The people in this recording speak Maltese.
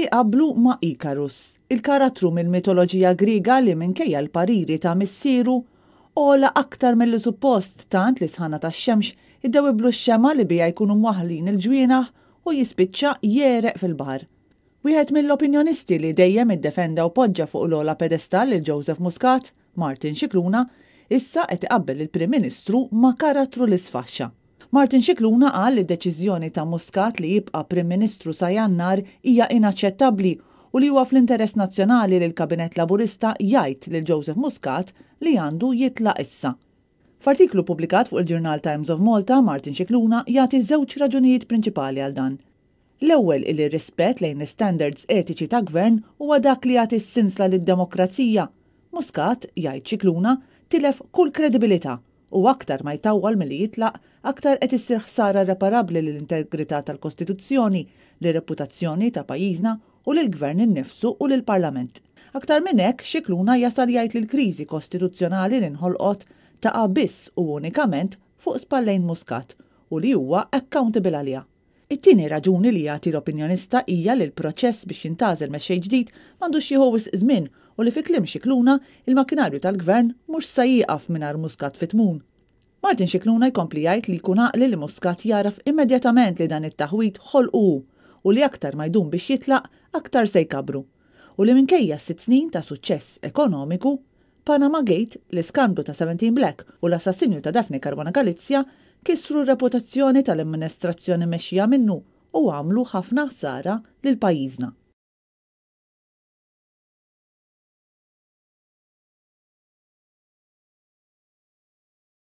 Iqabblu ma' Ikarus, il-karattru mill-mitoloġija Griega li minkejja l-pariri ta' missieru, għola aktar milli suppost tant li s-sħana tax-xemx iddewwiblu x-xemgħa li biha jkunu mwaħħlin il-ġwienaħ u jispiċċa jegħreq fil-baħar. Wieħed mill-opinjonisti li dejjem iddefenda u poġġa fuq l-ogħla pedestall lil Joseph Muscat, Martin Scicluna, issa qed iqabbel lill-Prim Ministru ma' karattru li sfaxxa. Martin Scicluna qal li d-deċiżjoni ta' Muscat li jibqa' Prim Ministru sa Jannar hija inaċċettabbli u li huwa fl-interess nazzjonali li l-Kabinett Laburista jgħid lil Joseph Muscat li għandu jitlaq issa. F'artiklu ppubblikat fuq il-ġurnal Times of Malta, Martin Scicluna jagħti żewġ raġunijiet prinċipali għal dan. L-ewwel illi r-rispett lejn l-istandards etiċi ta' gvern huwa dak li jagħti s-sinsla lid-demokrazija. Muscat, jgħid Scicluna, tilef kull kredibilità u aktar ma jtawwal milli jitlaq, aktar qed issir ħsara irreparabbli lill-integrità tal-Kostituzzjoni, lir-reputazzjoni ta' pajjiżna u lill-Gvern innifsu u lill-Parlament. Aktar minn hekk, Scicluna jasal jgħid li l-kriżi kostituzzjonali li nħolqot taqa' biss u unikament fuq spallejn Muscat u li huwa accountable għaliha. It-tieni raġuni li jagħti l-opinjonista hija li l-proċess biex jintgħażel mexxej ġdid m'għandux jieħu wisq żmien u li fi kliem Scicluna, il-makkinarju tal-Gvern mhux sa jieqaf mingħajr Muscat fit-tmun. Martin Scicluna jkompli jgħid li jkun għaqli li Muscat jagħraf immedjatament li dan it-taħwid ħolqu hu u li aktar ma jdum biex jitlaq aktar se jkabbru u li minkejja s-sitt snin ta' suċċess ekonomiku, Panama Gate, l-iskandlu ta' 17 Black u l-assassinju ta' Daphne Caruana Galizia kissru r-reputazzjoni tal-amministrazzjoni mmexxija minnu u għamlu ħafna ħsara lil pajjiżna.